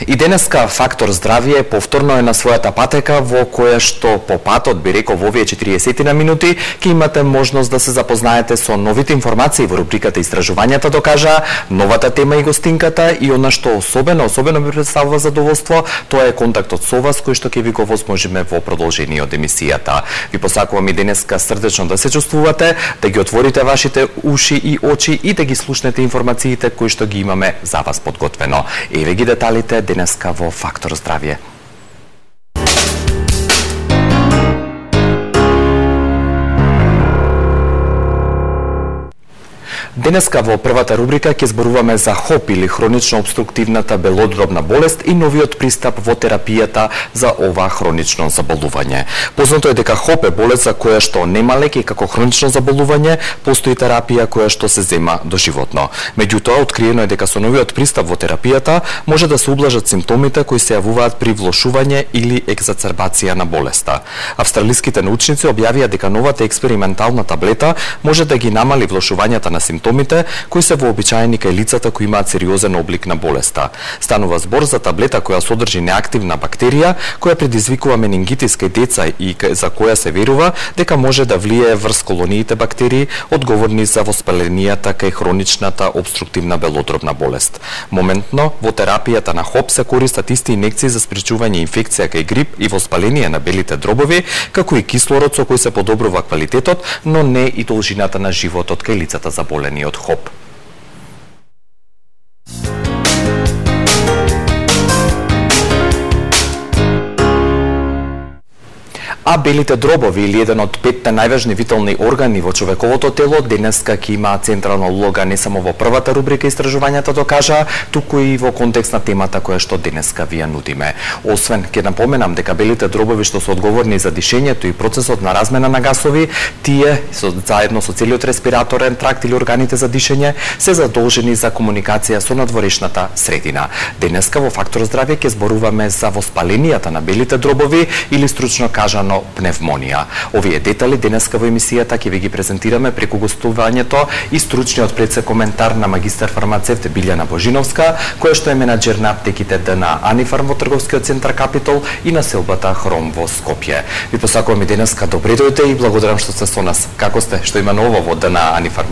И денеска Фактор здравје повторно е на својата патека во која што по патот, би рекол, во овие 40 на минути ќе имате можност да се запознаете со новите информации во рубриката Истражувањата докажа, новата тема и гостинката и она што особено ми представува задоволство, тоа е контактот со вас кој што ќе ви го возможиме во продолжение од емисијата. Ви посакувам и денеска срдечно да се чувствувате, да ги отворите вашите уши и очи и да ги слушнете информациите кои што ги имаме за вас подготвено. Еве ги деталите денеска во Фактор здравје. Денеска во првата рубрика ќе зборуваме за ХОП или хронично обструктивната белодробна болест и новиот пристап во терапијата за ова хронично заболување. Познато е дека ХОП е болест за која што нема лек и како хронично заболување постои терапија која што се зема доживотно. Меѓутоа, откриено е дека со новиот пристап во терапијата може да се ублажат симптомите кои се јавуваат при влошување или екзацербација на болеста. Австралиските научници објавија дека новата експериментална таблета може да ги намали влошувањата на симптомите кои се вообичаени кај лицата кои имаат сериозен облик на болеста. Станува збор за таблета која содржи неактивна бактерија која предизвикува менингитис кај деца и за која се верува дека може да влијае врз колониите бактерии одговорни за воспаленијата кај хроничната обструктивна белодробна болест. Моментно во терапијата на ХОП се користат исти инекции за спречување инфекција кај грип и воспаление на белите дробови, како и кислород со кој се подобрува квалитетот, но не и должината на животот кај лицата заболени од ХОП. А белите дробови, или еден од 5 најважни витални органи во човековото тело, денеска ќе има централна улога не само во првата рубрика Истражувањата докажа, туку и во контекст на темата која што денеска ви ја нудиме. Освен, ќе напоменам дека белите дробови што се одговорни за дишењето и процесот на размена на гасови, тие заедно со целиот респираторен тракт или органите за дишење се задолжени за комуникација со надворешната средина. Денеска во Фактор здравје ќе зборуваме за воспаленијата на белите дробови или стручно кажано пневмонија. Овие детали денеска во емисијата ќе ви ги презентираме преку гостувањето и стручниот предсе коментар на магистар фармацевт Билјана Божиновска, која што е менаџер на аптеките на Анифарм во трговскиот центар Капитол и на селбата Хром во Скопје. Ви посакувам и денеска добре дојдете и благодарам што сте со нас. Како сте? Што има ново во ДНА Анифарм?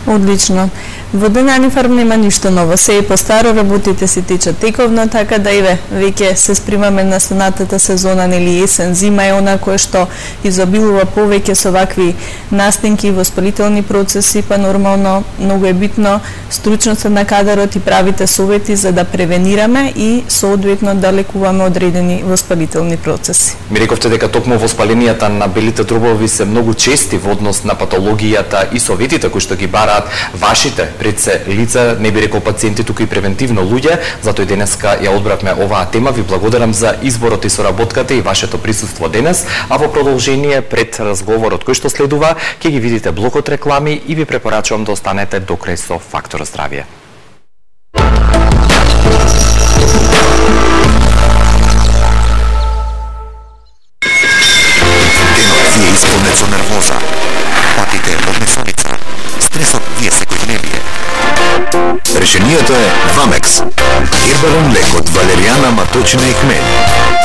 Одлично. Во ДНА Анифарм нема ништо ново. Се и постаро работите си течат тековно, така да веќе се спремаме на сонатата сезона, нели есен, зима е она која што изобилува повеќе со вакви настинки, воспалителни процеси, па нормално многу е битно стручноста на кадарот и правите совети за да превенираме и соодветно да лекуваме одредени воспалителни процеси. Ми рековте дека токму воспаленијата на белите дробови се многу чести во однос на патологијата и советите кои што ги бараат вашите пред се лица, не би рекол пациенти, туку и превентивно луѓе, затоа и денеска ја одбравме оваа тема. Ви благодарам за изборот и соработката и вашето присуство денес, а во продолжение пред разговорот кој што следува, ќе ги видите блокот реклами и ви препорачувам да останете до крај со Фактор здравје. Денот ви е исполнет со нервоза, патите од несоница, стресот ви е секојдневие. Решението е Вамекс. Хербален лек од валеријана, маточина и хмель.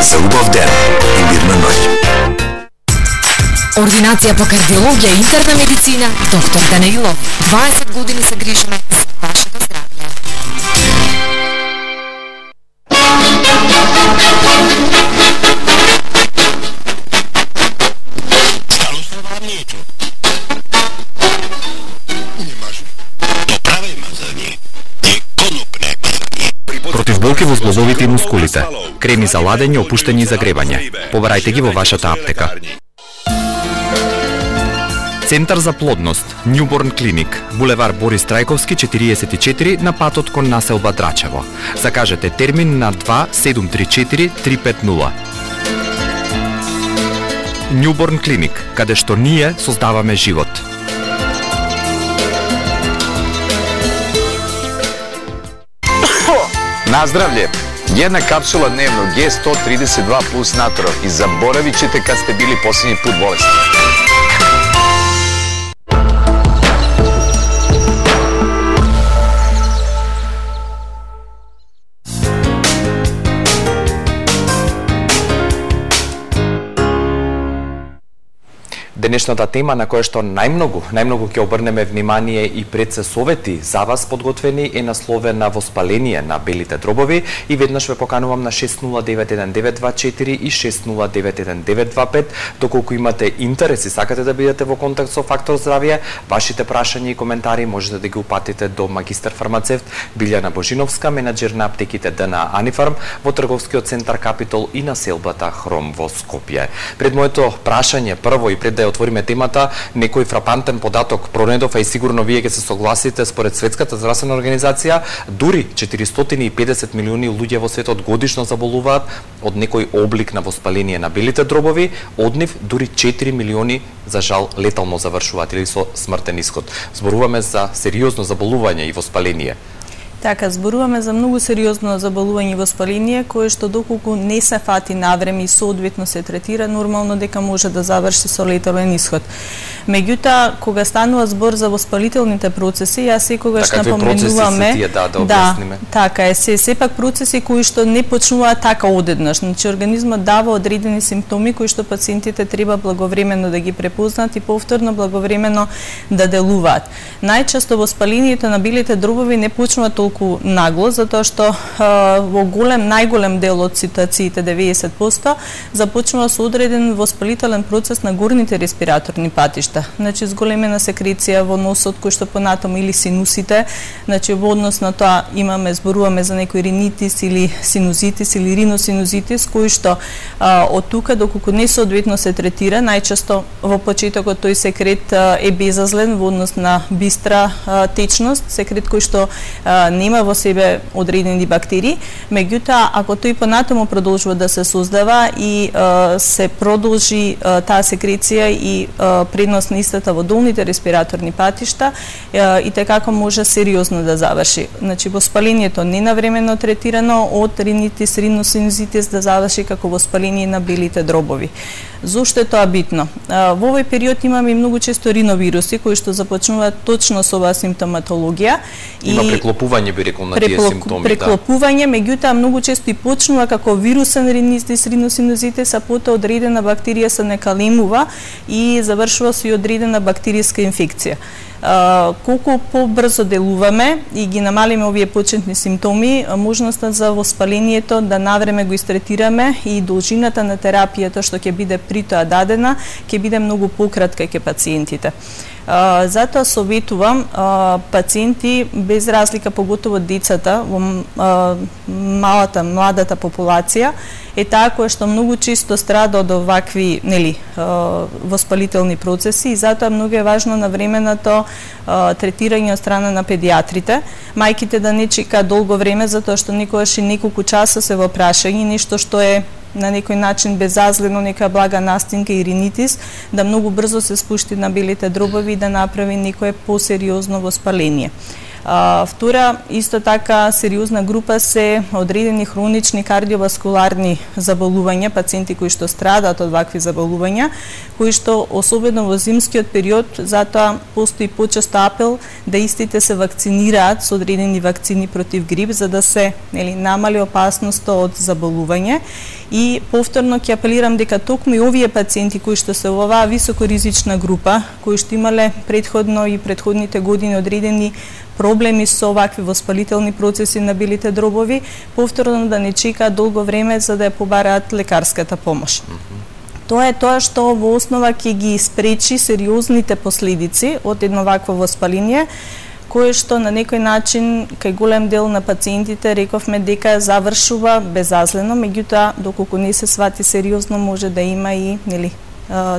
За убав ден и мирна ноќ. Ординација по кардиологија и интерна медицина, доктор Данаилов. 20 години се грижиме за вашето здравје. Против болки во зглобовите и мускулите. Креми за ладење, опуштање и загревање. Побарајте ги во вашата аптека. Центар за плодност, Нјуборн клиник, булевар Борис Трајковски 44 на патот кон населба Драчево. Закажете термин на 2734 350. Нјуборн клиник, каде што ние создаваме живот. Наздравле! Една капсула дневно Г132 плюс натро и заборавичете кад сте били последни пут болесни. денешната тема на која што најмногу ќе обрнеме внимание и пред се совети за вас подготвени е насловена воспаление на белите дробови и веднаш ве поканувам на 60919224 и 60919225 доколку имате интерес и сакате да бидете во контакт со Фактор здравје, вашите прашања и коментари можете да ги упатите до магистар фармацевт Билјана Божиновска, менаџер на аптеките ДНА Анифарм во трговскиот центар Капитол и на селбата Хром во Скопје. Пред моето прашање прво и пред да ја отвориме темата, некој фрапантен податок пронедов, а и сигурно вие ќе се согласите, според Светската здравствена организација, дури 450 милиони луѓе во светот годишно заболуваат од некој облик на воспаление на белите дробови, од нив дури 4 милиони за жал летално завршуваат или со смртен исход. Зборуваме за сериозно заболување и воспаление. Така, зборуваме за многу сериозно заболување и воспаление, кое што доколку не се фати навреме и соодветно се третира, нормално дека може да заврши со летален исход. Меѓутоа, кога станува збор за воспалителните процеси, јас секогаш напоменуваме така е, сепак процеси кои што не почнуваат така одеднаш. Значи организмот дава одредени симптоми кои што пациентите треба благовремено да ги препознаат и повторно благовремено да делуваат. Најчесто воспалението на белите дробови не почнува толку нагло, затоа што во најголем дел од ситуациите, 90%, започнува со одреден воспалителен процес на горните респираторни патишта. Значи, зголемена секреција во носот, кој што понатаму или синусите, значи, во однос на тоа зборуваме за некој ринитис или синузитис или риносинузитис, кој што од тука, доколку не соодветно се третира, најчесто во почетокот тој секрет е безазлен во однос на бистра течност, секрет кој што нема во себе одредени бактерии, меѓутоа, ако тој понатаму продолжува да се создава и се продолжи таа секреција и преднос на истата во долните респираторни патишта, и tekako може сериозно да заврши. Значи, воспалението ненавремено третирано од ринитис, риносинузитис да заврши како воспаление на белите дробови. Зошто е тоа битно? Во овој период имаме и многу често риновируси кои што започнуваат точно со оваа симптоматологија. Има преклопување, би рекол, на тие симптоми. Преклопување, меѓутоа многу често и почнува како вирусен ринитис, риносинузитис, а потоа одредена бактерија се некалемува и завршува со одредена бактеријска инфекција. Колку побрзо делуваме и ги намалиме овие почетни симптоми, можноста за воспалението да навреме го истретираме и должината на терапијата што ќе биде при тоа дадена, ќе биде многу пократка кај пациентите. Затоа советувам пациенти, без разлика, поготово децата во младата популација, е таа која што многу често страда од овакви воспалителни процеси и затоа многу е важно навременото третирање од страна на педиатрите. Мајките да не чека долго време, затоа што некогаш и неколку часа се во прашање, нешто што е на некој начин безазлено, нека блага настинка и ринитис, да многу брзо се спушти на белите дробови и да направи некое посериозно воспаление. Втора, исто така, сериозна група се одредени хронични кардиоваскуларни заболувања, пациенти кои што страдаат од вакви заболувања, кои што, особено во зимскиот период, затоа постои почесто апел да истите се вакцинираат со одредени вакцини против грип, за да се намали опасноста од заболување. И повторно ќе апелирам дека токму и овие пациенти кои што се во оваа високоризична група, кои што имале предходно и предходните години одредени проблеми со овакви воспалителни процеси на белите дробови, повторно да не чекаат долго време за да ја побараат лекарската помош. Тоа е тоа што во основа ќе ги спречи сериозните последици од едно вакво воспаление, кое што на некој начин кај голем дел на пациентите рековме дека завршува безазлено, меѓутоа доколку не се свати сериозно може да има и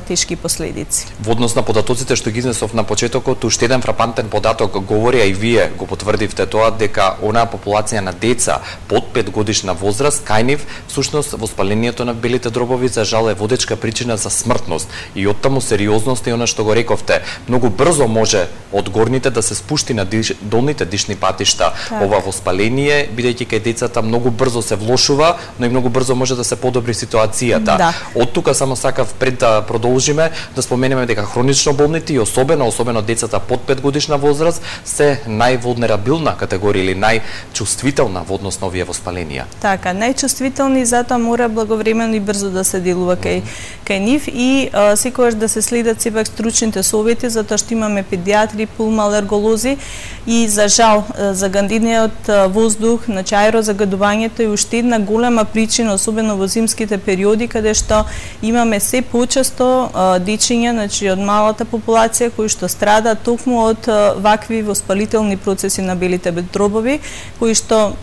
тешки последици. Во однос на податоците што ги изнесов на почетокот, уште еден фрапантен податок говори, а и вие го потврдивте тоа, дека онаа популација на деца под 5 годишна возраст, кај нив всушност воспалението на белите дробови за жал е водечка причина за смртност и оттаму сериозност и она што го рековте, многу брзо може од горните да се спушти на долните дишни патишта ова воспаление, бидејќи кај децата многу брзо се влошува, но и многу брзо може да се подобри ситуацијата. Од тука само сакав пред да продолжиме да споменеме дека хронично болните и особено децата под 5 годишна возраст се највулнерабилна категорија или најчувствителна во однос на овие воспаленија. Така, најчувствителни, затоа мора благовремено и брзо да се делува кај нив и секогаш да се следат сепак стручните совети, затоа што имаме педиатри, пулмоалерголози и за жал загадениот воздух, значи аерозагадувањето е уште една голема причина, особено во зимските периоди, каде што имаме се почесто дечиња, значи од малата популација кои што страдаат токму од вакви воспалителни процеси на белите дробови, кои што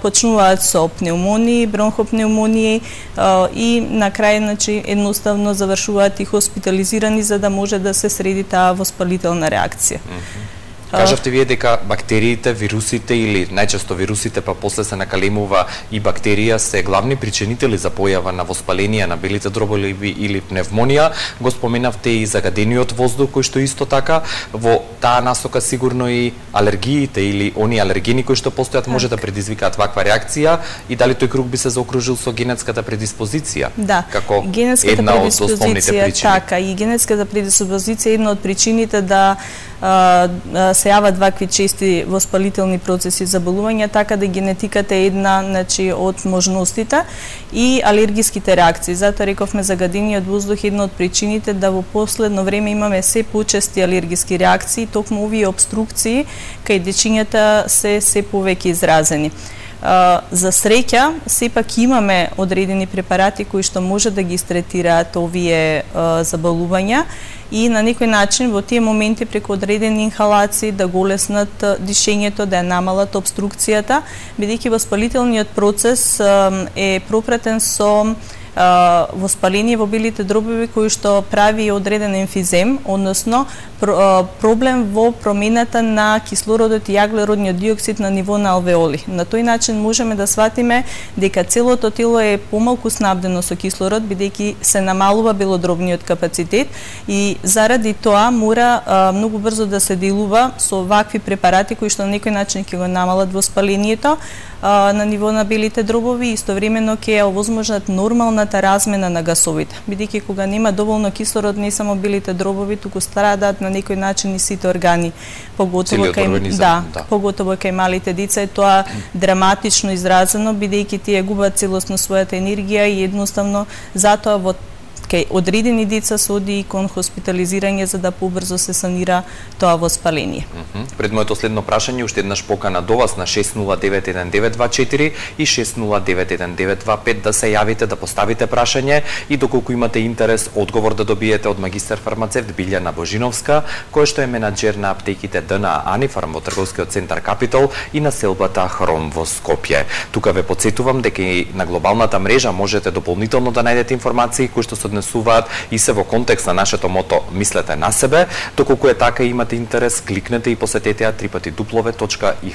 почнуваат со пневмонии, бронхопневмонии и на крај, значи, едноставно завршуваат и хоспитализирани за да може да се среди таа воспалителна реакција. Кажавте вие дека бактериите, вирусите или најчесто вирусите, па после се накалемува и бактерија, се главни причинители за појава на воспаленија на белите дробови или пневмонија. Го споменавте и загадениот воздух, кој што исто така во таа насока сигурно и алергиите или они алергени кои што постојат може да предизвикаат ваква реакција и дали тој круг би се заокружил со генетската предиспозиција? Да, како генетската една од основните причини. Така, и генетската предиспозиција е една од причините да се јават вакви чести воспалителни процеси заболувања, така да генетиката е една, значи, од можностите и алергиските реакции. Затоа рековме загадениот воздух е една од причините да во последно време имаме се почести алергиски реакции, токму овие обструкции кај дечињата се повеќе изразени. За среќа, сепак имаме одредени препарати кои што може да ги стретираат овие заболувања и на некој начин во тие моменти преку одредени инхалации да го олеснат дишењето, да ја намалат обструкцијата, бидејќи воспалителниот процес е пропратен со воспаление во белите дробови кои што прави одреден емфизем, односно проблем во промената на кислородот и јаглеродниот диоксид на ниво на алвеоли. На тој начин можеме да сватиме дека целото тело е помалку снабдено со кислород, бидејќи се намалува белодробниот капацитет и заради тоа мора многу брзо да се делува со вакви препарати кои што на некој начин ќе го намалат воспалението на ниво на белите дробови и истовремено ќе ја овозможнат нормалната размена на гасовите. Бидејќи кога нема доволно кислород, не само белите дробови, туку страдаат на некој начин и сите органи, поготово кај малите деца е тоа драматично изразено, бидејќи тие губат целосно својата енергија и едноставно затоа во кај одредени деца се оди и кон хоспитализирање за да побрзо се санира тоа воспаление. Пред моето следно прашање, уште еднаш покана до вас на 6091924 и 6091925 да се јавите, да поставите прашање и доколку имате интерес, одговор да добиете од магистар фармацевт Билјана Божиновска, која што е менаџер на аптеките ДНА Анифарм во трговскиот центар Капитол и на селбата Хром во Скопје. Тука ве потсетувам дека и на глобалната мрежа можете дополнително да најдете информации кои што се однесуваат и се во контекст на нашето мото "Мислете на себе". Доколку е така и имате интерес, кликнете и посетете ја www.ih.mk.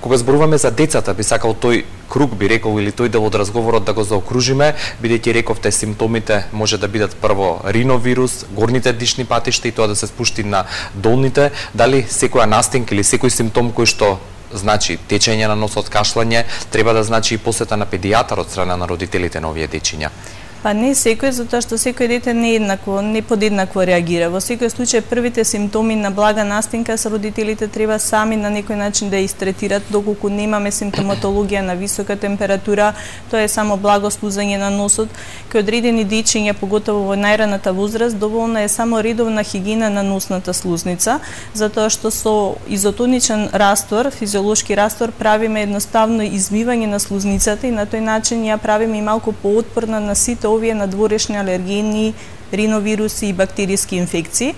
Кога зборуваме за децата, би сакал тој круг, би рекол, или тој дел од разговорот да го заокружиме, бидејќи рековте симптомите може да бидат прво риновирус, горните дишни патишта и тоа да се спушти на долните. Дали секоја настинка или секој симптом кој што значи течење на носот, кашлање, треба да значи и посета на педијатар од страна на родителите на овие дечиња? Па не секој, затоа што секој дете не подеднакво реагира. Во секој случај првите симптоми на блага настинка со родителите треба сами на некој начин да истретират, доколку немаме симптоматологија на висока температура, тоа е само благо слузање на носот. Кај одредени дечиња, поготово во најраната возраст, доволна е само редовна хигиена на носната слузница, затоа што со изотоничен раствор, физиолошки раствор, правиме едноставно измивање на слузницата и на тој начин ја правиме и малку поотпорна на сите овие надворешни алергени, риновируси и бактериски инфекции.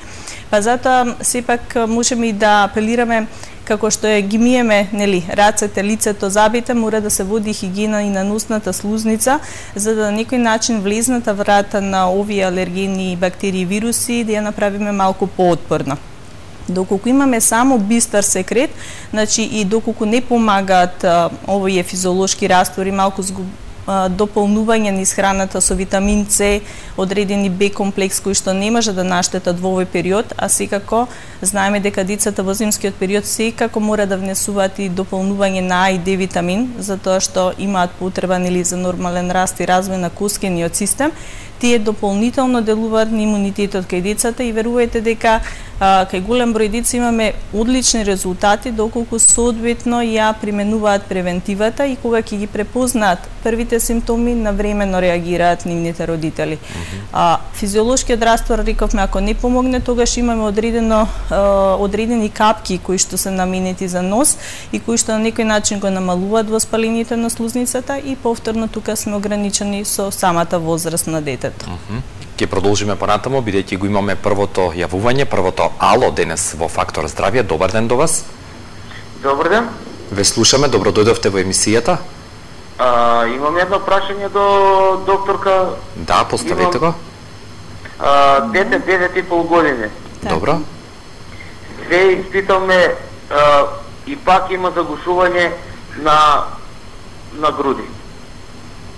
Па затоа сепак можеме и да апелираме како што ги миеме, нели, рацете, лицето, забите, мора да се води хигиена и на носната слузница, за да на некој начин влезната врата на овие алергени, бактерии и вируси да ја направиме малку поотпорна. Доколку имаме само бистар секрет, значи и доколку не помагаат овие физиолошки раствори, малку дополнување низ храната со витамин С, одредени Б комплекс кој што не може да наштетат во овој период, а секако знаеме дека децата во зимскиот период секако мора да внесуваат и дополнување на А и Д витамин, затоа што имаат потреба за нормален раст и развој на коскениот систем. Тие дополнително делуваат на имунитетот кај децата и верувајте дека кај голем број деца имаме одлични резултати доколку соодветно ја применуваат превентивата и кога ќе ги препознаат првите симптоми, навремено реагираат нивните родители. Физиолошкиот раствор, рековме, ако не помогне, тогаш имаме одредени капки кои што се наменети за нос и кои што на некој начин го намалуваат воспалението на слузницата и повторно тука сме ограничени со самата возраст на детето. Ќе продолжиме понатаму, бидејќи го имаме првото јавување, првото ало денес во Фактор здравје. Добар ден до вас. Добар ден. Ве слушаме, добро дојдовте во емисијата. Имам едно прашање до докторка. Да, поставете го. Дете 9,5 години. Добро. Се испитаме и пак има загушување на груди.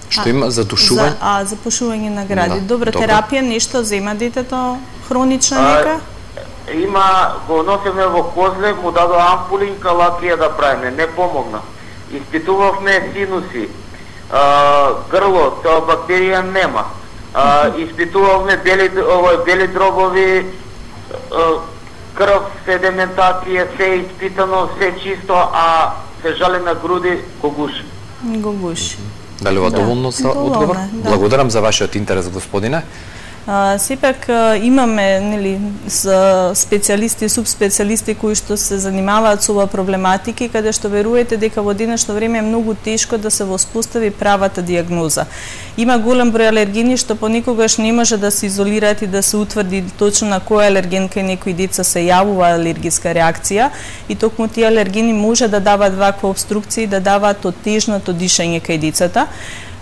Што има задушување? Запушување на гради. Добро, терапија, нешто зема детето хронична нека? Има, го носиме во козле, му дадо ампулинка, лакија да правиме, не помогна. Испитувавме синуси, грло, тоа бактерија нема. Испитувавме бели дробови, крв, седиментација, се испитано, се чисто, а се жали на груди, го гуши. Го гуши. Дали ова доволно за одговор? Да. Благодарам за вашиот интерес, господине. Сепак имаме специјалисти и субспецијалисти кои што се занимаваат со оваа проблематика, каде што верувате дека во денешно време е многу тешко да се воспостави правата дијагноза. Има голем број алергени што понекогаш не може да се изолираат и да се утврди точно на кој алерген кај некои деца се јавува алергиска реакција и токму тие алергени може да даваат ваква обструкција и да даваат оттежното дишење кај децата.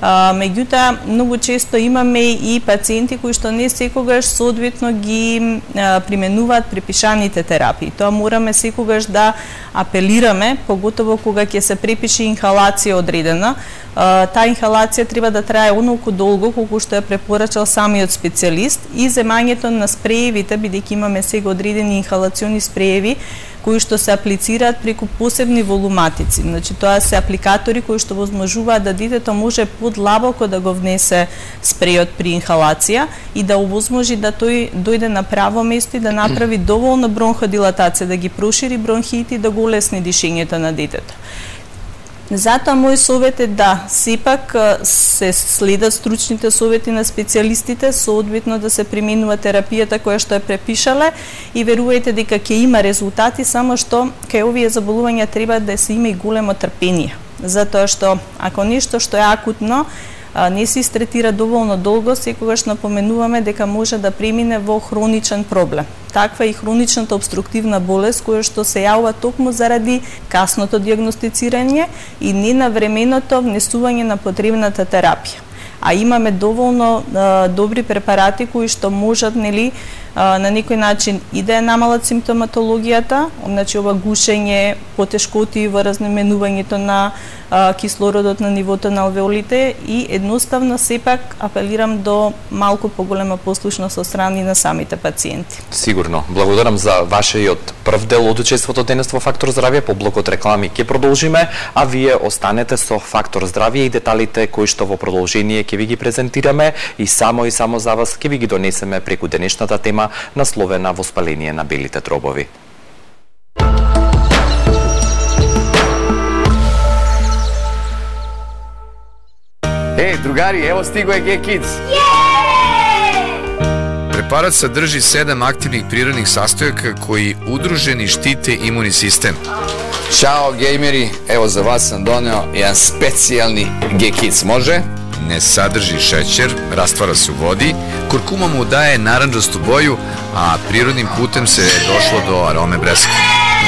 Меѓутоа, многу често имаме и пациенти кои што не секогаш соодветно ги применуваат препишаните терапии. Тоа мораме секогаш да апелираме, поготово кога ќе се препише инхалација одредена. Таа инхалација треба да трае онолку долго колку што ја препорачал самиот специјалист и земањето на спреевите, бидејќи имаме сега одредени инхалациони спрееви кои што се аплицираат преку посебни волуматици. Значи, тоа се апликатори кои што возможуваат да детето може подлабоко да го внесе спрејот при инхалација и да овозможи да тој дојде на право место и да направи доволно бронходилатација, да ги прошири бронхите и да го улесни дишењето на детето. Затоа мој совет е да сепак се следат стручните совети на специјалистите, соодветно да се применува терапијата која што е препишале и верувајте дека ќе има резултати, само што кај овие заболувања треба да се има и големо трпение. Затоа што ако нешто што е акутно не се истретира доволно долго, секогаш напоменуваме дека може да премине во хроничен проблем. Таква е и хроничната обструктивна болест која што се јавува токму заради касното дијагностицирање и ненавременото внесување на потребната терапија. А имаме доволно добри препарати кои што можат на некој начин и да ја намалат симптоматологијата, значи ова гушење, потешкоти во разменувањето на кислородот на нивото на алвеолите и едноставно сепак апелирам до малку поголема послушност од страни на самите пациенти. Сигурно. Благодарам за вашиот прв дел од учеството денес во Фактор здравје. По блокот реклами ќе продолжиме, а вие останете со Фактор здравје и деталите кои што во продолжение ќе ви ги презентираме и само за вас ќе ви ги донесеме преку денешната тема насловена воспаление на белите дробови. Другари, ево стиго е G-Kids. Препарат садржи 7 активних природних састојака кои удружени штите имуни систем. Чао, геймери, ево за вас сам донео еден специјални G-Kids, може? Не садржи шеќер, раствара се у води, куркума му дае наранџасту боју, а природним путем се дошло до ароме бреска.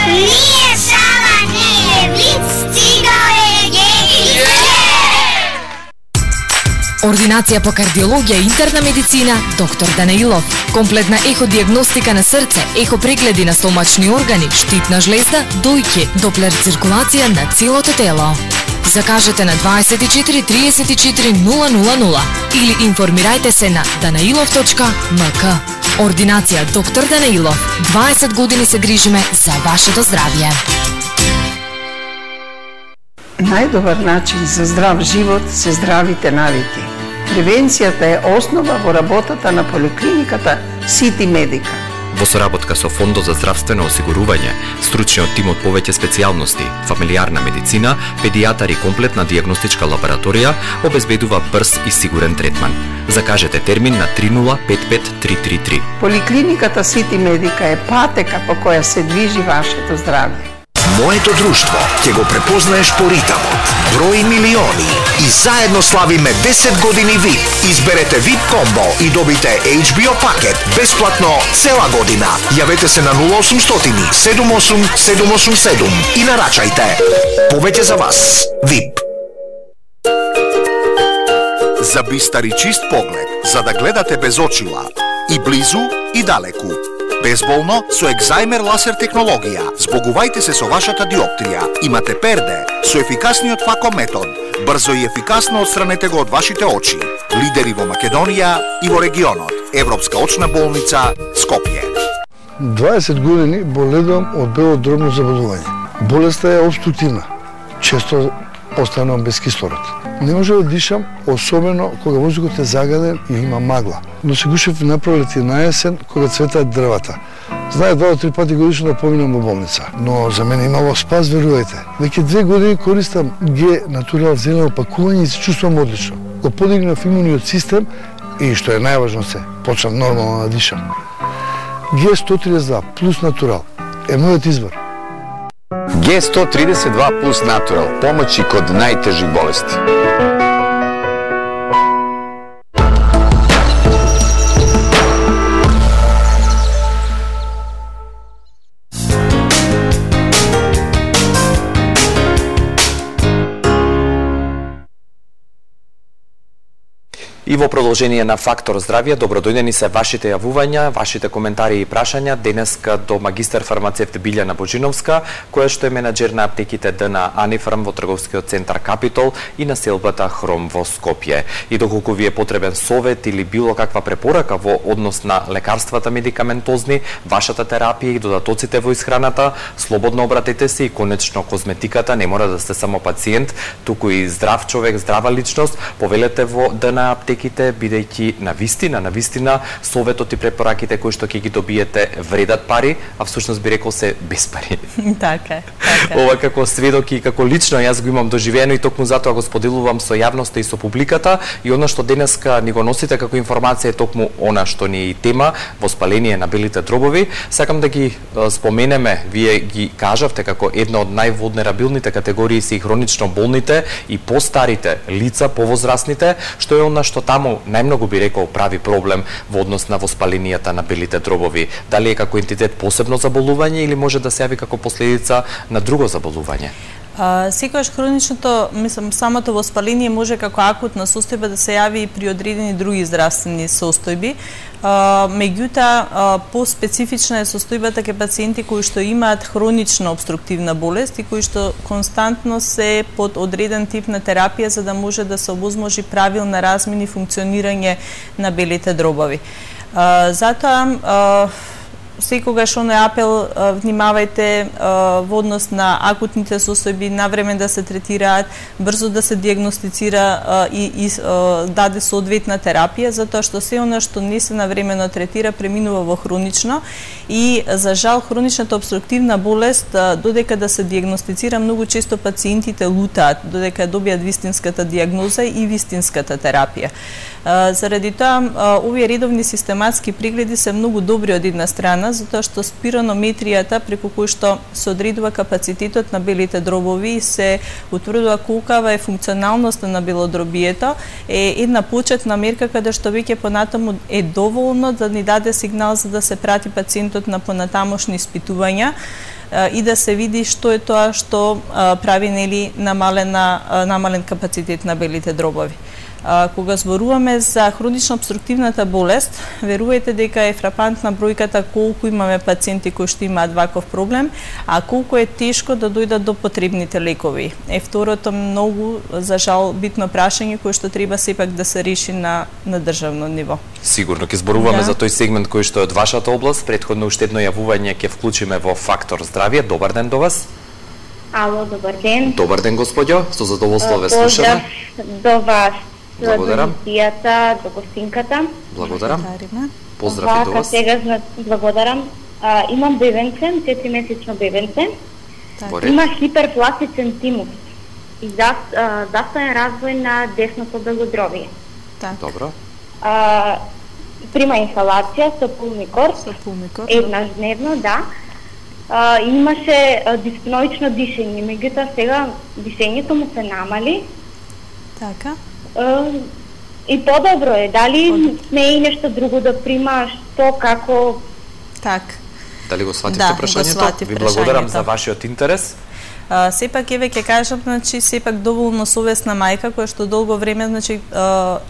Nije šala, nije blic, stigao je G-Kids. Ординација по кардиологија и интерна медицина, доктор Данаилов. Комплетна еходијагностика на срце, ехопрегледи на стомачни органи, штитна жлезда, дојќе, доплер циркулација на целото тело. Закажете на 24 34 000 или информирајте се на danailov.mk. Ординација доктор Данаилов. 20 години се грижиме за вашето здравје. Најдобар начин за здрав живот се здравите навики. Превенцијата е основа во работата на поликлиниката Сити Медика. Во соработка со Фондот за здравствено осигурување, стручниот тим од повеќе специјалности, фамилиарна медицина, педијатар и комплетна дијагностичка лабораторија обезбедува брз и сигурен третман. Закажете термин на 3055333. Поликлиниката Сити Медика е патека по која се движи вашето здравје. Моето друштво ќе го препознаеш по ритамот. Брои милиони и заедно славиме 10 години VIP. Изберете VIP комбо и добите HBO пакет бесплатно цела година. Јавете се на 0800 78 787 и нарачајте. Повеќе за вас. VIP. За бистар и чист поглед, за да гледате без очила, и близу и далеку. Безболно со екзајмер ласер технологија. Збогувајте се со вашата диоптрија. Имате перде со ефикасниот фако метод. Брзо и ефикасно отстранете го од вашите очи. Лидери во Македонија и во регионот. Европска очна болница Скопје. 20 години боледувам од белодробно заболување. Болеста е обструктивна. Често останувам без кислород. Не може да дишам, особено кога воздухот е загаден и има магла. Но се гушев на пролет и на есен, кога цветаат дрвата. Знае 2 до 3 пати годишно да поминам во болница. Но за мене имало спас, верувајте. Веќе 2 години користам Г Натурал зелено пакување и се чувствувам одлично. Го подигнав имуниот систем и, што е најважно се, почнав нормално да дишам. Г 132 плюс Натурал е мојот избор. G132 плюс Natural, помоći kod najtežih bolesti. И во продолжение на Фактор здравје, добродојдени се вашите јавувања, вашите коментари и прашања денеска до магистар фармацевт Билјана Боџиновска, која што е менаџер на аптеките ДН Анифарм во трговскиот центар Капитол и на селбата Хром во Скопје. И доколку ви е потребен совет или било каква препорака во однос на лекарствата медикаментозни, вашата терапија и додатоците во исхраната, слободно обратете се и конечно козметиката не мора да сте само пациент, туку и здрав човек, здрава личност, повелете во ДН аптеките, бидејќи на вистина советот и препораките кои што ќе ги добиете вредат пари, а всушност би рекол се без пари. Така. Ова како сведок и како лично јас го имам доживено и токму затоа го споделувам со јавноста и со публиката, и она што денеска ни го носите како информација е токму она што ни е и тема, воспаление на белите дробови. Сакам да ги споменеме, вие ги кажавте како една од највулнерабилните категории се и хронично болните и постарите лица, повозрастните, што е она што таму најмногу би рекол прави проблем во однос на воспаленијата на белите дробови. Дали е како ентитет посебно заболување или може да се јави како последица на друго заболување? Секогаш хроничното, самото воспаление може како акутна состојба да се јави и при одредени други здравствени состојби. Меѓутоа, по-специфична е состојбата кај пациенти кои што имаат хронична обструктивна болест и кои што константно се под одреден тип на терапија за да може да се овозможи правилна размина и функционирање на белите дробови. Затоа, секогаш оној апел, внимавајте во однос на акутните состојби, навреме да се третираат, брзо да се дијагностицира и даде соодветна терапија, затоа што се она што не се навремено третира преминува во хронично и за жал хроничната обструктивна болест додека да се дијагностицира многу често пациентите лутаат додека добијат вистинската дијагноза и вистинската терапија. Заради тоа, овие редовни систематски прегледи се многу добри од една страна, затоа што спиронометријата преку кој што се одредува капацитетот на белите дробови и се утврдува колкава е функционалноста на белодробието, е една почетна мерка каде што веќе понатаму е доволно да ни даде сигнал за да се прати пациентот на понатамошни испитувања и да се види што е тоа што прави намален капацитет на белите дробови. Кога зборуваме за хронично обструктивната болест, верувајте дека е фрапантна бројката колку имаме пациенти кои што имаат ваков проблем, а колку е тешко да дојдат до потребните лекови. Второто многу, за жал, битно прашање кое што треба сепак да се реши на државно ниво. Сигурно ќе зборуваме за тој сегмент кој што е од вашата област. Претходно уште едно јавување ќе вклучиме во Фактор здравје. Добар ден до вас. Ало, добар ден. Добар ден, господјо. Со задоволство ве слушаме. Поздрав до вас. Благодарам. До емисијата, до гостинката. Благодарам. Поздрав и до вас. Сега, благодарам. Имам бебенце, 4-месечно бебенце. Има хиперпластичен тимус и застоен развој на десното белодробие. Добро. Прима инхалација со пулмикор. Еднаш дневно, да. Имаше диспноично дишење, меѓутоа сега дишењето му се намали. Така. И подобро е. Дали сме и нешто друго да прима, што, како? Така. Дали го сватите прашањето? Ви благодарам за вашиот интерес. Сепак еве ќе кажам, значи сепак доволно совесна мајка која што долго време значи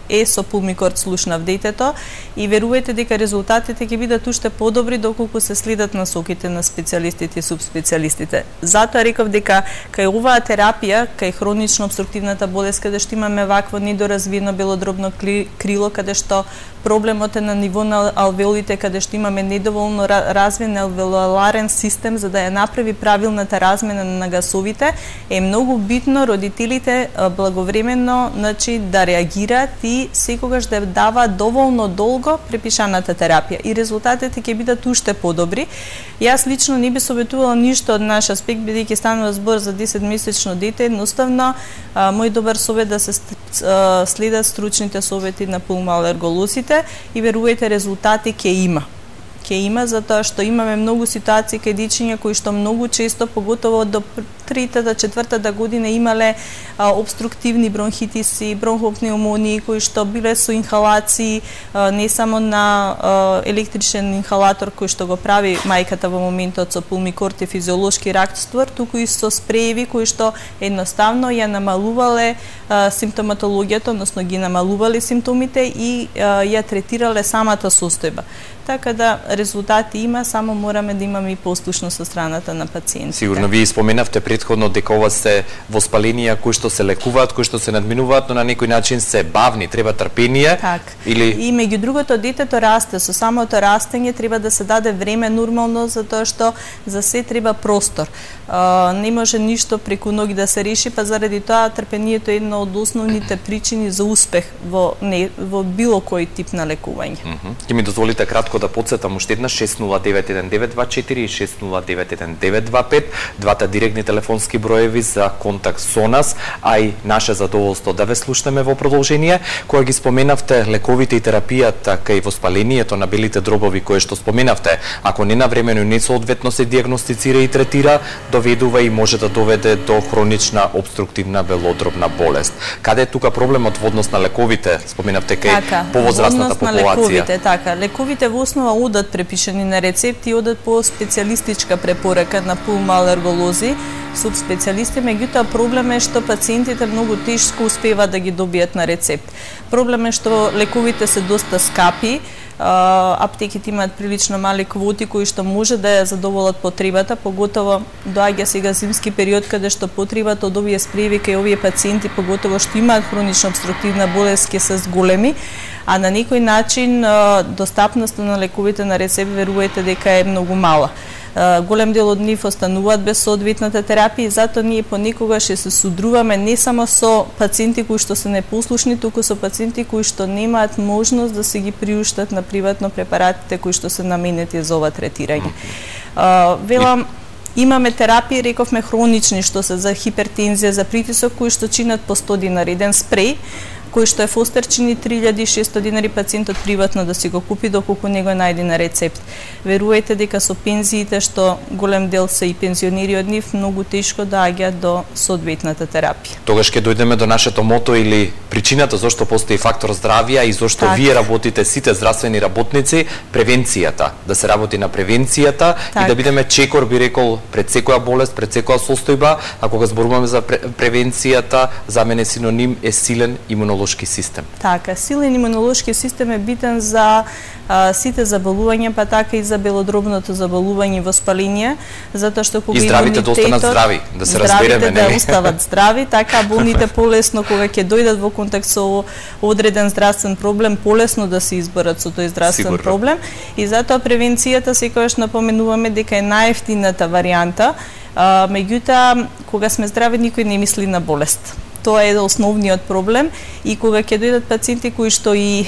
е со пулмикорд слушнав детето и верувајте дека резултатите ќе бидат уште подобри доколку се следат насоките на специјалистите и субспецијалистите. Затоа реков дека кај оваа терапија, кај хронично обструктивната болест каде што имаме вакво недоразвиено белодробно крило, каде што проблемот е на ниво на алвеолите, каде што имаме недоволно развиен алвеоларен систем за да ја направи правилната размена на гасовите, е многу битно родителите благовремено значи да реагираат и секогаш да даваат доволно долго препишаната терапија и резултатите ќе бидат уште подобри. Јас лично не би советувала ништо од наш аспект бидејќи станува збор за 10-месечно дете, едноставно мој добар совет да се следат стручните совети на пулмоалерголозите и верувајте резултати ќе има. Ќе има затоа што имаме многу ситуации кај дечиња кои што многу често, поготово до 3-4 година имале обструктивни бронхитиси, бронхопнеумонии кои што биле со инхалации, не само на електричен инхалатор кој што го прави мајката во моментот со пулмикорд и физиолошки раствор, туку и со спрееви кои што едноставно ја намалувале симптоматологијата, односно ги намалувале симптомите и ја третирале самата состојба. Така да резултати има, само мораме да имаме и послушност со страната на пациентите. Сигурно вие споменавте претходно дека ова се воспаленија кои што се лекуваат, кои што се надминуваат, но на некој начин се бавни, треба трпение. Или и меѓу другото детето расте, со самото растење треба да се даде време нормално затоа што за се треба простор. Не може ништо преку ноги да се реши, па заради тоа трпението е една од основните причини за успех во било кој тип на лекување. Ќе ми дозволите кратко да подсетам уште една 609124 и 609125, двата директни телефонски броеви за контакт со нас, а и наше задоволство да ве слушнеме во продолжение. Кога ги споменавте лековите и терапијата кај воспалението на белите дробови кое што споменавте, ако не навремено и не соодветно се дијагностицира и третира, доведува и може да доведе до хронична обструктивна белодробна болест. Каде е тука проблемот во однос на лековите? Споменавте кај повозрастната популација. Лековите во основа одат препишани на рецепти и одат по специјалистичка препорака на пулмоалерголози, субспецијалисти, меѓутоа проблем е што пациентите многу тешко успеваат да ги добијат на рецепт. Проблем е што лековите се доста скапи, аптеките имаат прилично мали квоти кои што може да ја задоволат потребата, поготово доаѓа сега зимски период каде што потребата од овие спрееви кај овие пациенти, поготово што имаат хронична обструктивна болест, ќе се зголеми, а на некој начин достапноста на лековите на рецепт верувајте дека е многу мала. Голем дел од нив остануваат без соодветната терапија и затоа ние понекогаш ќе се судруваме не само со пациенти кои што се непослушни, туку со пациенти кои што немаат можност да се ги приуштат на приватно препаратите кои што се наменети за ова третирање. Велам, имаме терапии, рековме хронични, што се за хипертензија, за притисок, кои што чинат по 100 динари. Еден спреј, кој што е Фостер, чини 3600 динари, пациентот приватно да си го купи доколку не го најде на рецепт. Верувајте дека со пензиите, што голем дел се и пензионери од нив, многу тешко доаѓаат до соодветната терапија. Тогаш ќе дојдеме до нашето мото или причината зошто постои фактор здравје и зошто вие работите сите здравствени работници, превенцијата, да се работи на превенцијата и да бидеме чекор, би рекол, пред секоја болест, пред секоја состојба, а кога зборуваме за превенцијата, за мене синоним е силен имунолошки имунолошки систем. Така, силен имунолошки систем е битен за сите заболувања, па така и за белодробното заболување и воспаление, затоа што кога и здравите да останат здрави, да се разбереме, да остават здрави, така болните полесно кога ќе дојдат во контакт со одреден здравствен проблем, полесно да се изборат со тој здравствен проблем, и затоа превенцијата секогаш напоменуваме дека е најевтината варијанта, меѓутоа кога сме здрави никој не мисли на болест. Тоа е основниот проблем, и кога ќе дојдат пациенти кои што и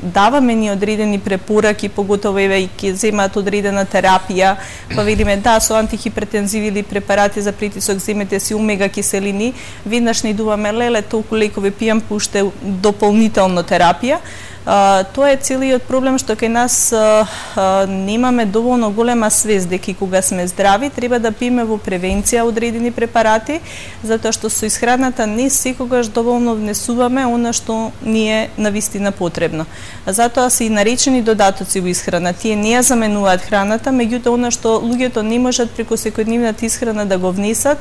даваме ни одредени препораки, поготово и ќе земаат одредена терапија, па видиме да со антихипертензиви или препарати за притисок земете си омега киселини, веднаш не идуваме леле толку лекови пијам, пуште дополнително терапија. Тоа е целиот проблем што кај нас немаме доволно голема свест дека кога сме здрави треба да пиеме во превенција одредени препарати, затоа што со исхраната не секогаш доволно внесуваме она што ни е навистина потребно. Затоа се и наречени додатоци во исхрана. Тие не ја заменуваат храната, меѓутоа она што луѓето не можат преку секојдневната исхрана да го внесат,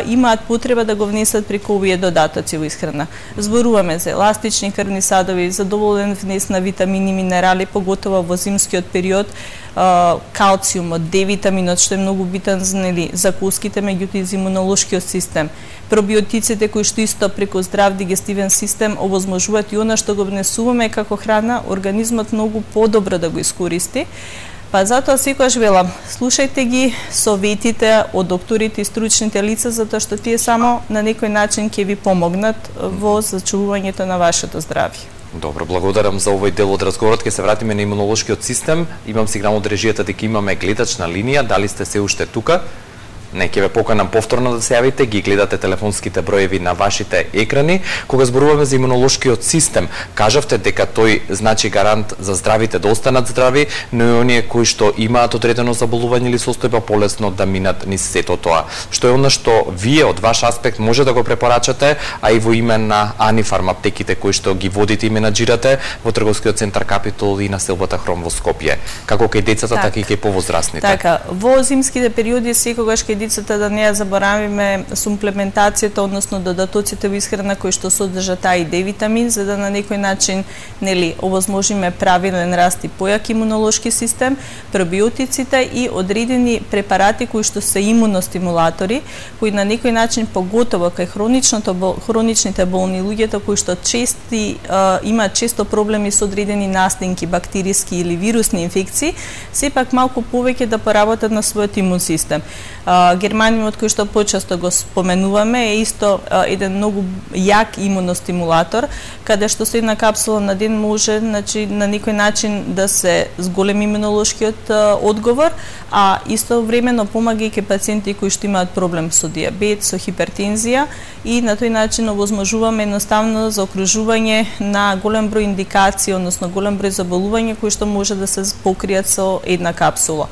имаат потреба да го внесат преку овие додатоци во исхрана. Зборуваме за еластични крвни садови, за доволен внес на витамини и минерали, поготово во зимскиот период, калциумот, D-витаминот, што е многу битен за коските, меѓутоа и за имунолошкиот систем. Пробиотиците кои што исто преку здрав дигестивен систем овозможуваат и она што го внесуваме како храна, организмот многу подобро да го искористи. Па затоа секогаш велам, слушајте ги советите од докторите и стручните лица, затоа што тие само на некој начин ќе ви помогнат во зачувувањето на вашето здравје. Добро, благодарам за овој дел од разговорот. Ќе се вратиме на имунолошкиот систем. Имам сигнал од режијата дека имаме гледачна линија. Дали сте се уште тука? Не, ќе ве поканам повторно да се јавите, ги гледате телефонските броеви на вашите екрани. Кога зборуваме за имунолошкиот систем, кажавте дека тој значи гарант за здравите да останат здрави, но и оние кои што имаат одредено заболување или состојба полесно да минат низ сето тоа. Што е она што вие од ваш аспект може да го препорачате, а и во име на Анифарм аптеките кои што ги водите и менаџирате во трговскиот центар Капитол и на селбата Хром во Скопје, како кај децата, така и кај повозрастните. Така, во зимските периоди секогаш кај децата да не ја заборавиме сумплементацијата, односно додатоците во исхрана кои што содржат А и Д витамин, за да на некој начин овозможиме правилен раст и појак имунолошки систем, пробиотиците и одредени препарати кои што се имуностимулатори, кои на некој начин поготово кај хроничните болни луѓето кои што имаат често проблеми со одредени настинки, бактериски или вирусни инфекции, сепак малку повеќе да поработат на својот имун систем. Германиумот кој што почесто го споменуваме е исто еден многу јак имуностимулатор, каде што со една капсула на ден може на некој начин да се зголеми имунолошкиот одговор, а истовремено помагајќи пациенти кои што имаат проблем со дијабет, со хипертензија, и на тој начин овозможуваме едноставно заокружување на голем број индикации, односно голем број заболувања кои што може да се покријат со една капсула.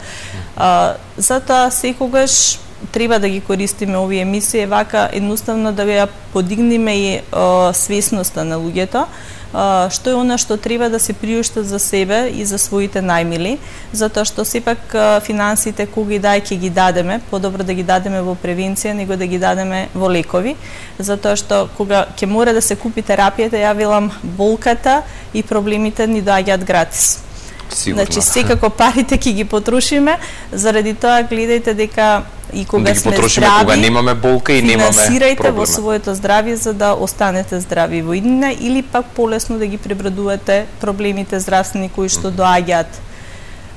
Затоа секогаш треба да ги користиме овие емисии, вака едноставно да ја подигнеме и свесноста на луѓето, што е она што треба да се приуштат за себе и за своите најмили, затоа што сепак финансите кога и ќе ги дадеме, подобро да ги дадеме во превенција него да ги дадеме во лекови, затоа што кога ќе мора да се купи терапијата, ја велам, болката и проблемите ни доаѓаат гратис. Сигурно. Значи секако парите ќе ги потрошиме, заради тоа гледајте дека и кога сме здрави, кога немаме болка и немаме проблеми. Финансирајте во своето здравје за да останете здрави во иднина, или пак полесно да ги пребродувате проблемите здравствени кои што доаѓаат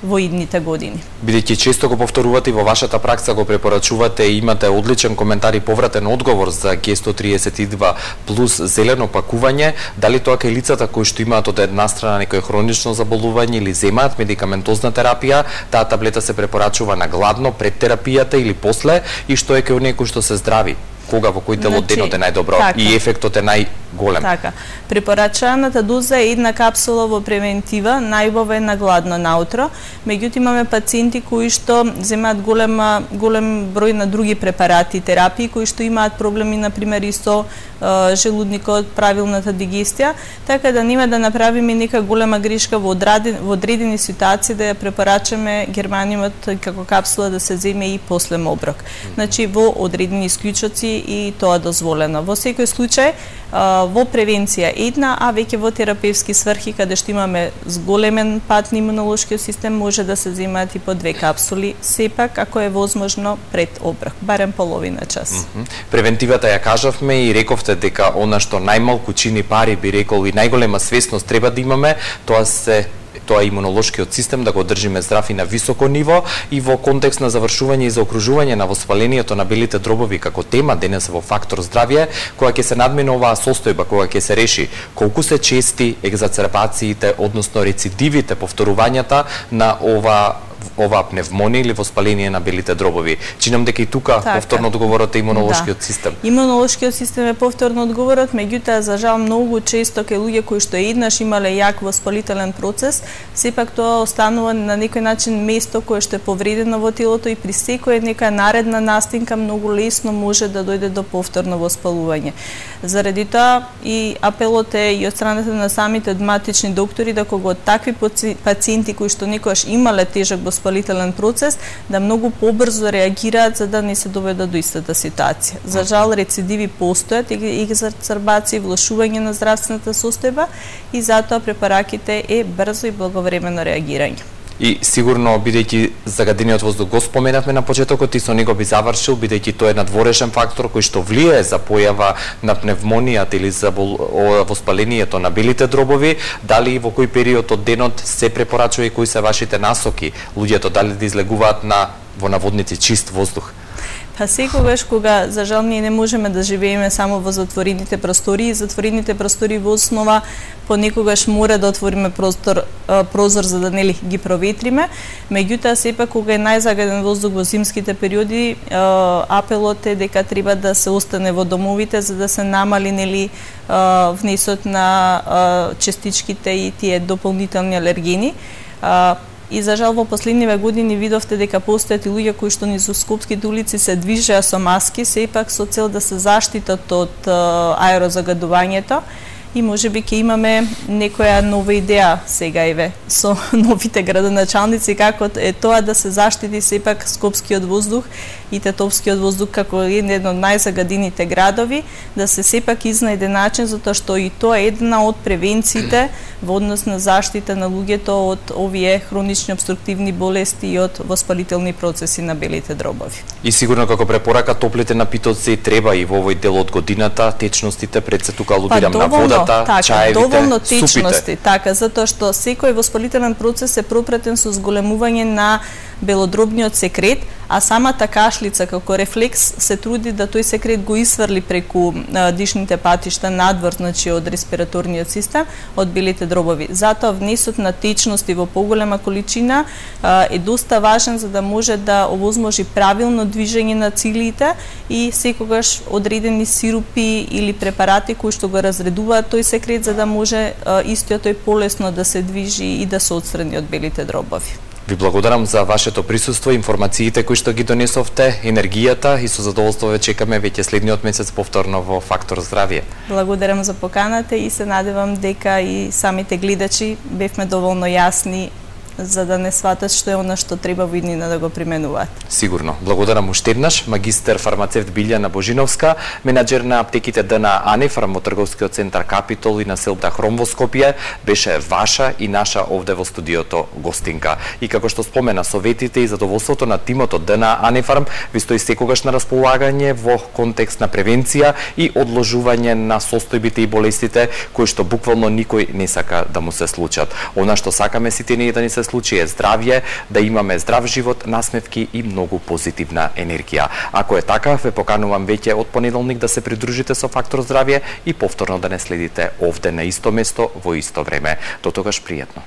во идните години. Бидејќи често го повторувате и во вашата пракса го препорачувате и имате одличен коментар и повратен одговор за Г132 плюс зелено пакување, дали тоа кај лицата кои што имаат од една страна некој хронично заболување или земаат медикаментозна терапија, таа таблета се препорачува на гладно пред терапијата или после, и што е кај оние кои што се здрави? Кога, во кој дел од денот е најдобро и ефектот е најголем? Така. Препорачаната доза е една капсула во превентива, најубаво е на гладно наутро. Меѓутоа имаме пациенти кои што земаат голем број на други препарати и терапии кои што имаат проблеми на пример и со желудникот, правилната дигестија, така да нема да направиме нека голема грешка во одредени ситуации да ја препорачаме германиумот како капсула да се земе и после оброк. Значи во одредени исклучоци и тоа дозволено. Во секој случај, во превенција една, а веќе во терапевски сврхи, каде што имаме зголемен пат на имунолошкиот систем, може да се земаат и по 2 капсули, сепак, ако е возможно, пред оброк, барем половина час. Превентивата ја кажавме и рековте дека она што најмалку чини пари, би рекол, и најголема свесност треба да имаме, тоа е имунолошкиот систем, да го држиме здрав и на високо ниво, и во контекст на завршување и заокружување на воспалението на белите дробови како тема денес во фактор здравје, кога ќе се надмине оваа состојба, кога ќе се реши колку се чести екзацербациите, односно рецидивите, повторувањата на ова пневмонија или воспаление на белите дробови. Чинам дека и тука повторно одговорот е имунолошкиот систем. Имунолошкиот систем е повторно одговорот, меѓутоа за жал многу често кај луѓе кои што еднаш имале јак воспалителен процес, сепак тоа останува на некој начин место кое што е повредено во телото и при секоја нека наредна настинка многу лесно може да дојде до повторно воспалување. Заради тоа и апелот е и од страната на самите драматични доктори да кога такви пациенти кои што некогаш имале тежок воспалителен процес, да многу побрзо реагираат за да не се доведат до истата ситуација. За жал рецидиви постојат, екзацербации, влошување на здравствената состојба и затоа препараките е брзо и благовремено реагирање. И сигурно, бидејќи загадениот воздух го споменавме на почетокот и со него би завршил, бидејќи тој е надворешен фактор кој што влијае за појава на пневмонијата или за воспалението на белите дробови, дали и во кој период од денот се препорачува и кои се вашите насоки луѓето дали да излегуваат во наводници чист воздух? Па секогаш кога за жал ние не можеме да живееме само во затворените простори во основа понекогаш мора да отвориме прозор за да нели ги проветриме, меѓутоа сепак кога е најзагаден воздух во зимските периоди, апелот е дека треба да се остане во домовите за да се намали нели внесот на частичките и тие дополнителни алергени. И за жал во последниве години видовте дека постојат и луѓе кои што низ скопските улици се движеа со маски, сепак со цел да се заштитат од аерозагадувањето. И можеби ќе имаме некоја нова идеја сега еве со новите градоначалници како е тоа да се заштити сепак скопскиот воздух и тетовскиот воздух како еден од најзагадените градови, да се сепак изнајде начин затоа што и тоа е една од превенциите во однос на заштита на луѓето од овие хронични обструктивни болести и од воспалителни процеси на белите дробови. И сигурно како препорака топлите напитоци треба и во овој дел од годината, течностите, пред се тука алудирам на водата, чаевите, доволно течности, супите. така, затоа што секој воспалителен процес е пропратен со зголемување на белодробниот секрет, а самата кашлица како рефлекс се труди да тој секрет го исфрли преку дишните патишта надвор, значи од респираторниот систем, од белите дробови. Затоа внесот на течности во поголема количина е доста важен за да може да овозможи правилно движење на цилите и секогаш одредени сирупи или препарати кои што го разредуваат тој секрет за да може истиот тој полесно да се движи и да се отстрани од белите дробови. Ви благодарам за вашето присуство, информациите кои што ги донесовте, енергијата и со задоволство ве чекаме веќе следниот месец повторно во Фактор здравје. Благодарам за поканата и се надевам дека и самите гледачи бевме доволно јасни за да не сватат што е она што треба во иднина да го применуваат. Сигурно. Благодарам уште еднаш, магистер фармацевт Билјана Божиновска, менаџер на аптеките ДНА Анифарм во трговскиот центар Капитол и на селта Хром во Скопје, беше ваша и наша овде во студиото гостинка. И како што спомена, советите и задоволството на тимот од ДНА Анифарм ви стои секогаш на располагање во контекст на превенција и одложување на состојбите и болестите кои што буквално никој не сака да му се случат. Она што сакаме сите ние да ни се случи е здравје, да имаме здрав живот, насмевки и многу позитивна енергија. Ако е така, ве поканувам веќе од понеделник да се придружите со Фактор здравје и повторно да не следите овде на исто место во исто време. До тогаш пријатно.